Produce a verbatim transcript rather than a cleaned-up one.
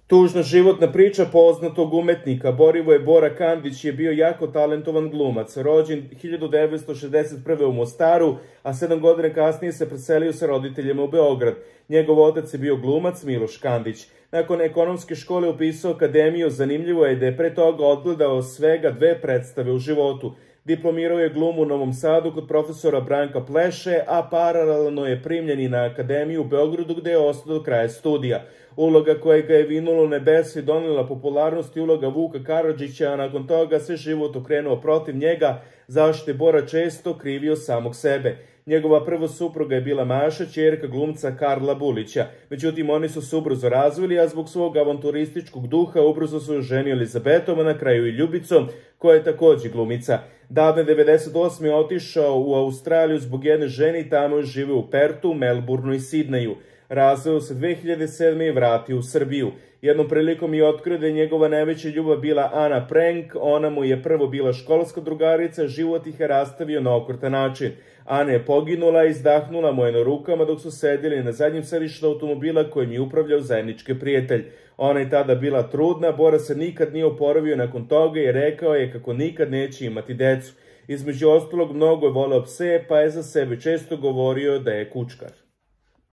Tužna životna priča poznatog umetnika Borivoje Bora Kandić je bio jako talentovan glumac, rođen hiljadu devetsto šezdeset prve u Mostaru, a sedam godina kasnije se preselio sa roditeljima u Beograd. Njegov otac je bio glumac Miloš Kandić. Nakon ekonomske škole upisao akademiju, zanimljivo je da je pre toga odgledao svega dve predstave u životu. Diplomirao je glumu u Novom Sadu kod profesora Branka Pleše, a paralelno je primljen i na akademiju u Beogradu gde je ostao do kraja studija. Uloga koja ga je vinulo u nebesa i donela popularnost i uloga Vuka Karadžića, a nakon toga se život okrenuo protiv njega, zašto je Bora često krivio samog sebe. Njegova prva supruga je bila Maša, ćerka glumca Karla Bulića. Međutim, oni su se ubrzo razvili, a zbog svog avanturističkog duha ubrzo su ženi Elizabetom, a na kraju i Ljubicom, koja je takođe glumica. Davne devedeset osme je otišao u Australiju zbog jedne žene i tamo je živeo u Pertu, Melbourneu i Sidneju. Razveo se dve hiljade sedme i vratio u Srbiju. Jednom prilikom je otkrio da je njegova najveća ljubav bila Ana Prenk, ona mu je prvo bila školska drugarica, život ih je rastavio na okrtan način. Ana je poginula i izdahnula mu je na rukama dok su sedjeli na zadnjem sedištu automobila kojim je upravljao zajednički prijatelj. Ona je tada bila trudna, Bora se nikad nije oporavio nakon toga i rekao je kako nikad neće imati decu. Između ostalog, mnogo je voleo pse, pa je za sebe često govorio da je kučkar.